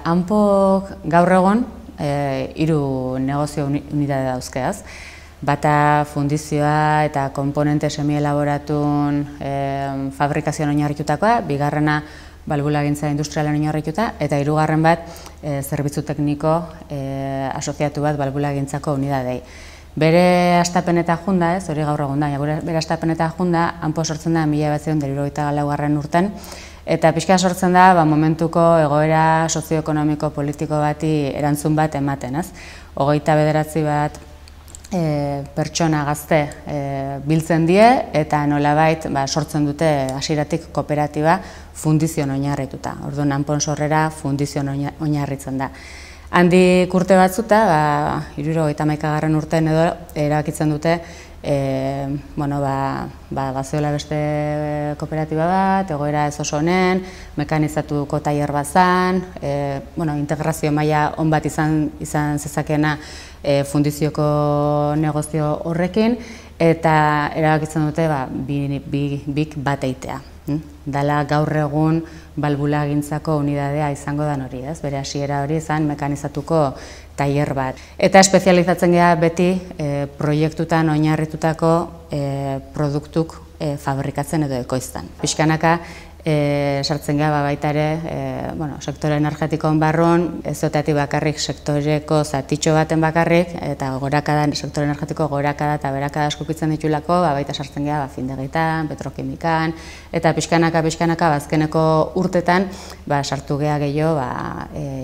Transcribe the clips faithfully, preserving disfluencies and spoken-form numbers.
Anpok gaur egon hiru negozio unitate dauzkeaz. Bata fundizioa eta komponente semi-elaboratun fabrikazioan oinarritutakoa, bigarrena balbulagintza industrialan oinarrituta, eta hirugarren bat zerbitzu tekniko asoziatu bat balbulagintzako unidadei. Bere astapeneta junda, ez, hori gaur egun da, bere astapeneta junda, Anpo sortzen da mila bederatziehun eta hirurogeita laugarren urten, eta pixka sortzen da momentuko egoera sozioekonomiko politiko bati erantzun bat ematen, ez? Hogeita bederatzi bat pertsona gazte biltzen die eta nolabait sortzen dute hasieratik kooperatiba fundizioan oinarrituta. Orduan Anpon sorrera fundizioan oinarritzen da. Handik urte batzuta, hirurogeita hamaikagarren urtean edo erabakitzen dute bazeola beste kooperatiba bat, egoera ez oso honen, mekanizatuko tailer bat zan, integrazio maila on bat izan zezakena fundizioko negozio horrekin, eta erabakitzen dute bik bat eitea. Dala gaur egun balbulagintzako unidadea izango dan hori, ez? Bere hasiera hori izan mekanizatuko tailer bat. Eta espezializatzen gara beti proiektutan oinarritutako produktuk fabrikatzen edo ekoizten. Pixkanaka sartzen gara baita ere sektore energetikoan barruan, ez zotatik bakarrik sektoreko zatitxo baten bakarrik, eta sektore energetiko gorakada eta berakada eskupitzen ditulako, baita sartzen gara findegitan, petrokimikan, eta pixkanaka, pixkanaka, bazkeneko urtetan sartu geha gehiago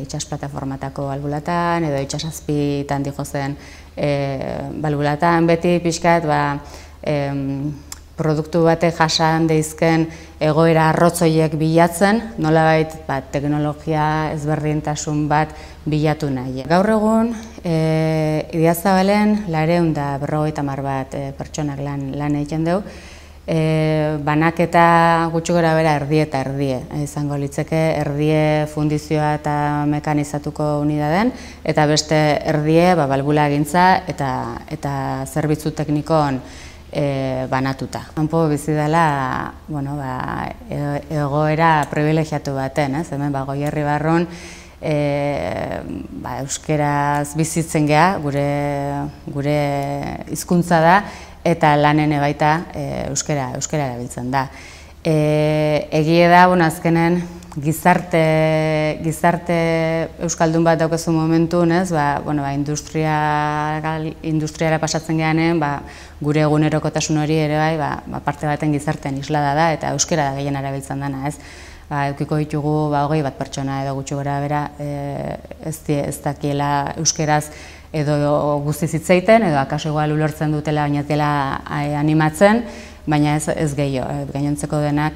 itxas plataformatako balbulatan, edo itxasazpitan dijo zen balbulatan, beti pixkat produktu batek jasan deizken egoera arrotzoiek bilatzen, nolabait teknologia ezberdintasun bat bilatu nahi. Gaur egun, Idiazabalen laurehun eta berrogeita hamar bat pertsonak lan egiten dugu, banaketa gutxi gora bera erdie eta erdie izango litzeke, erdie fundizioa eta mekanizatuko unidaden, eta beste erdie balbulagintza eta zerbitzu teknikon banatuta. Anpo bizi dela egoera privilegiatu baten, hemen Goierri barrun euskeraz bizitzen geha, gure hizkuntza da, eta lanen baita euskera erabiltzen da. Egie da, azkenen gizarte euskaldun bat daukazu momentun, industriara pasatzen gehanen, gure egunerokotasun hori ere bai, parte baten gizartean islada da, eta euskera da gehien erabiltzen dena, ez? Eukiko ditugu hogei bat pertsona edo gutxi gora bera ez dakiela euskeraz edo guztiz hitz egiten, edo akaso igual ulertzen dutela, baina ez dela animatzen, baina ez gehiago, gainontzeko denak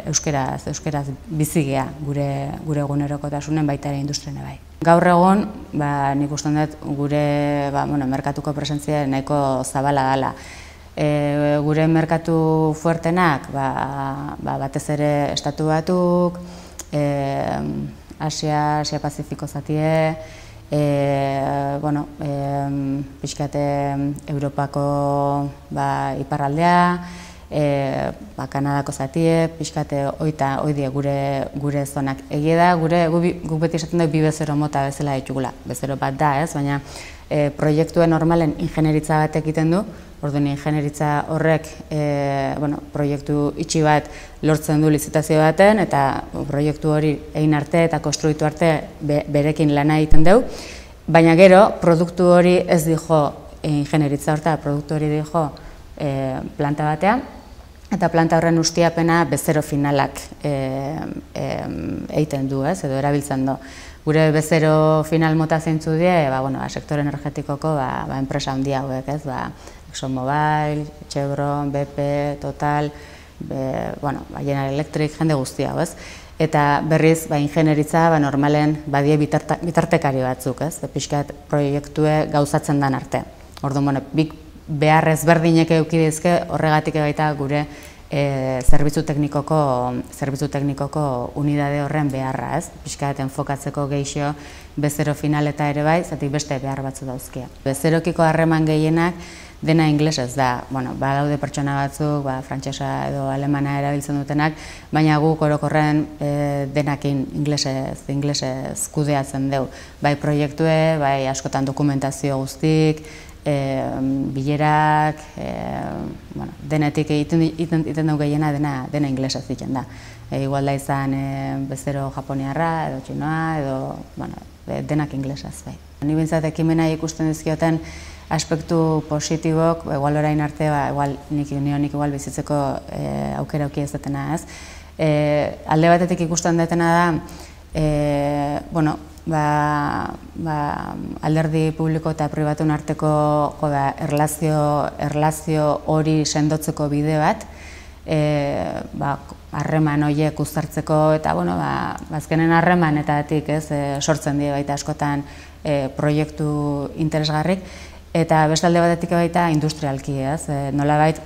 euskeraz bizigea gure egunerokotasunen baita ere industriene bai. Gaur egon, nik uste dut gure merkatuko presentzia nahiko zabala dela. Gure merkatu fuertenak batez ere Estatu Batuk, Asia Pazifiko zatie, pixkate Europako iparraldea, Kanadako zatie, pixkate oidie gure zonak. Egie da, guk beti esaten dugu bi bezero mota bezala ditugula. Bezero bat da, ez, baina proiektuen normalen ingenieritza bat egiten du, orduan ingenieritza horrek proiektu itxi bat lortzen du lizitazio baten, eta proiektu hori egin arte eta konstruitu arte berekin lana egiten dugu, baina gero produktu hori ez dijo ingenieritza horta, produktu hori dijo planta batean, eta planta horren ustiapena bezero finalak egiten du, edo erabiltzen du. Gure bezero final mota zeintzu die, sektore energetikoko enpresa handia hauek, ExxonMobil, Chevron, B P, Total, General Electric, jende guztia hau, ez? Eta berriz, ingenieritza normalen badie bitartekari batzuk, ez? Pixkat proiektue gauzatzen dan arte. Orduan, bik behar ezberdinek eukidizke horregatik baita gure zerbitzu teknikoko unidade horren beharra, ez? Pixkat enfokatzeko gehixo bezero final eta ere bai, zatik beste behar batzu dauzkia. Bezerokiko harreman gehienak dena inglesez da. Bueno, badaude pertsona batzuk, ba, frantsesa edo alemana erabiltzen dutenak, baina guk orokorren e, denakin inglesez, inglesez kudeatzen dugu. Bai proiektue, bai askotan dokumentazio guztik, e, bilerak, e, bueno, denetik egiten dugu gehiena dena, dena inglesez egiten da. E, igual da izan e, bezero japoniarra edo txinoa edo bueno, denak inglesaz. Bai. Ni bintzat ekimena ikusten dizkioten aspektu positibok, igual orain arte, ba, igual nik nionik igual bizitzeko e, aukera auki ez detena ez. E, alde batetik ikusten detena da, e, bueno, ba, ba, alderdi publiko eta pribatun arteko jo, ba, erlazio, erlazio hori sendotzeko bide bat, e, ba, harreman horiek uztartzeko eta bueno, ba, azkenen harremanetatik ez e, sortzen die baita askotan e, proiektu interesgarrik eta beste alde batetik baita industrialki ez, e, nolabait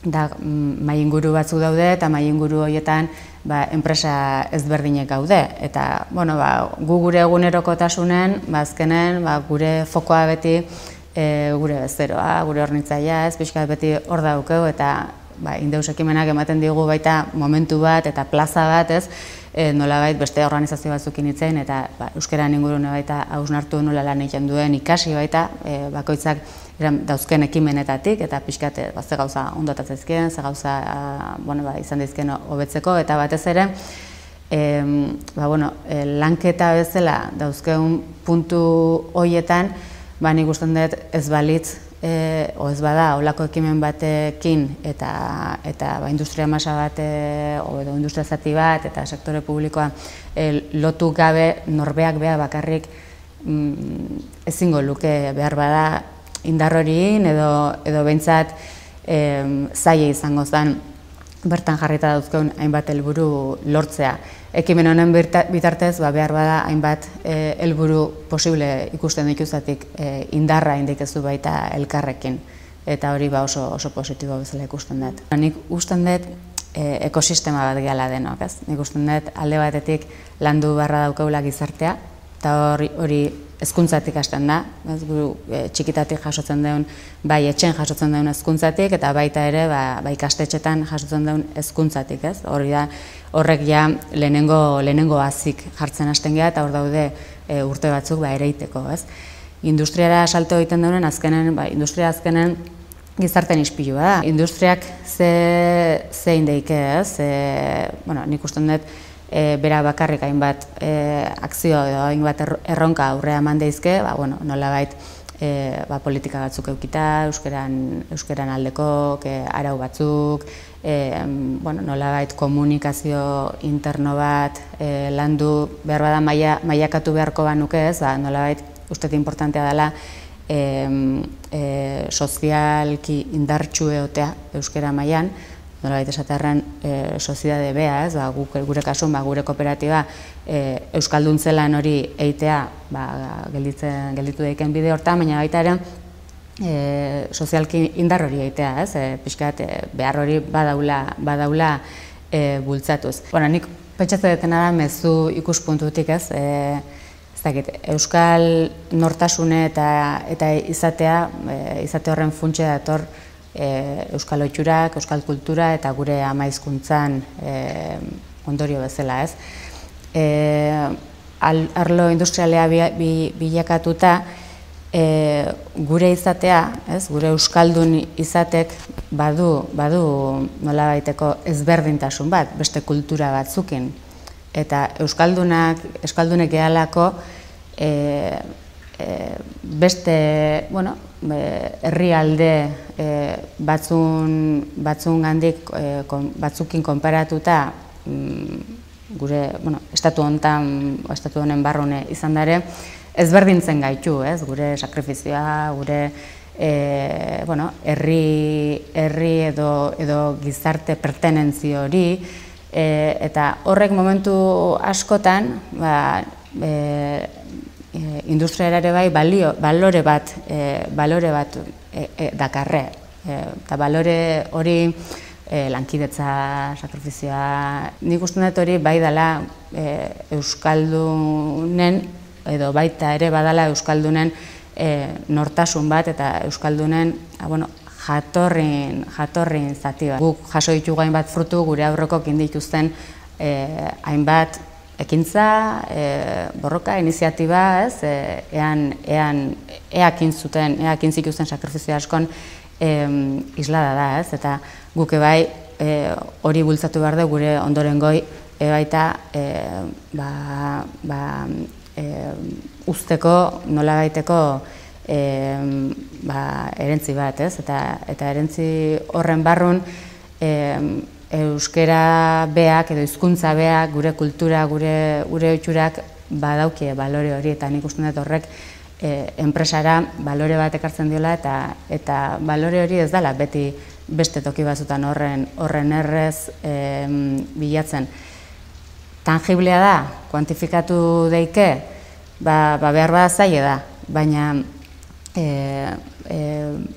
da mai inguru batzuk daude eta mai inguru horietan ba, enpresa ezberdinek gaude eta bueno, ba, gu gure egunerokotasunen ba, azkenen ba, gure fokoa beti e, gure bezeroa, gure hornitzaia ez, pixka beti hor daukeu eta ba, Indeus ekimenak ematen digu baita momentu bat eta plaza bat ez, e, nolabait beste organizazio batzukin hitzen eta ba, euskeran ingurune baita hausnartu nola lan egiten duen ikasi baita e, bakoitzak dauzken ekimenetatik eta pixkat ba, ze gauza ondotat zaizkien, ze gauza a, bueno, ba, izan daizkien hobetzeko eta batez ere e, ba, bueno, e, lanketa bezala dauzkeun puntu horietan ba, nik usten dut ez balitz E, o ez bada, olako ekimen batekin eta, eta ba, industria masa bat, e, o edo industria zati bat eta sektore publikoa e, lotu gabe norbeak beha bakarrik mm, ezingo luke behar bada indar horiin edo, edo behintzat e, zaila izango zen bertan jarrita dauzkeun hainbat helburu lortzea. Ekimen honen bitartez ba, behar bada hainbat helburu e, posible ikusten dituzatik e, indarra indikezu baita elkarrekin eta hori ba, oso, oso positibo bezala ikusten dut. Nik usten dut e, ekosistema bat gehala denok, ez? Nik usten dut alde batetik landu beharra daukaula gizartea eta hori, hori hezkuntzatik hasten da, ez, guru, e, txikitatik jasotzen duen, bai etxen jasotzen duen hezkuntzatik eta baita ere ba, ba ikastetxetan jasotzen duen hezkuntzatik, ez? Hori da, horrek ja lehenengo, lehenengo hazik jartzen hasten geha eta hor daude e, urte batzuk ba, ereiteko, ez? Industriara salto egiten duen azkenen, ba, industria azkenen gizarten ispilua da. Industriak ze, zein deike, ez? E, bueno, nik usten dut E, bera bakarrik hainbat e, akzio edo hainbat erronka aurrea eman daizke, ba, bueno, nolabait e, ba, politika batzuk eukita, euskeran, euskeran aldeko e, arau batzuk, e, bueno, nolabait komunikazio interno bat e, landu behar bada maia, maiakatu beharko banuke ez, ba, nolabait uste importantea dela e, e, sozialki indartsu egotea euskera mailan, nolabait esaterran e, soziedade bea, ez, ba, gure kasun, ba, gure kooperatiba e, euskaldun-zelan hori eitea ba, gelditzen, gelditu daiken bide hortan, baina baita ere e, sozialki indar hori eitea, ez, e, pixkat e, behar hori badaula, badaula e, bultzatuz. Bueno, nik pentsatzen detena da mezu ikuspuntutik, ez, e, ez dakit, euskal nortasune eta, eta izatea, e, izate horren funtse dator E, euskal oiturak, euskal kultura eta gure ama hizkuntzan e, ondorio bezala, ez. E, arlo industrialea bi, bi, bilakatuta e, gure izatea, ez, gure euskaldun izatek badu, badu nolabaiteko ezberdintasun bat, beste kultura batzukin. Eta euskaldunak, euskaldunek gehalako e, e, beste, bueno, herrialde e, batzun, batzun gandik e, kon, batzukin konparatuta mm, gure, bueno, estatu honetan, estatu honen barrune izan dare, ezberdintzen gaitu, ez? Gure sakrifizioa, gure e, bueno, herri, herri edo, edo gizarte pertenentzio hori, e, eta horrek momentu askotan, ba, e, industriara ere bai balio, balore bat, e, balore bat e, e, dakarre. E, eta balore hori e, lankidetza, sakrifizioa, nik uste dut hori bai dela e, euskaldunen, edo baita ere badala euskaldunen nortasun bat eta Euskaldunen bueno, jatorrin, jatorrin zati bat. Guk jaso ditugu hainbat frutu gure aurrekok indituzten hainbat ekintza, borroka, iniziatiba, ez, ean, ean, eakin zuten, eakin zituzten sakrifizio askon islada da, ez, eta guke bai hori bultzatu behar du gure ondorengoi baita ba, ba, usteko, nola baiteko ba, erentzi bat, ez, eta, eta erentzi horren barrun euskera beak edo hizkuntza beak, gure kultura, gure gure ohiturak badaukie balore hori eta nik uste dut horrek enpresara balore bat ekartzen diola eta eta balore hori ez dela beti beste toki batzutan horren horren errez bilatzen. Tangiblea da, kuantifikatu daike, ba behar bada zaila da, baina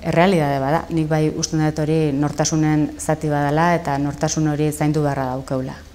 errealidade bada. Nik bai uste dut hori nortasunen zati badala eta nortasun hori zaindu beharra daukeula.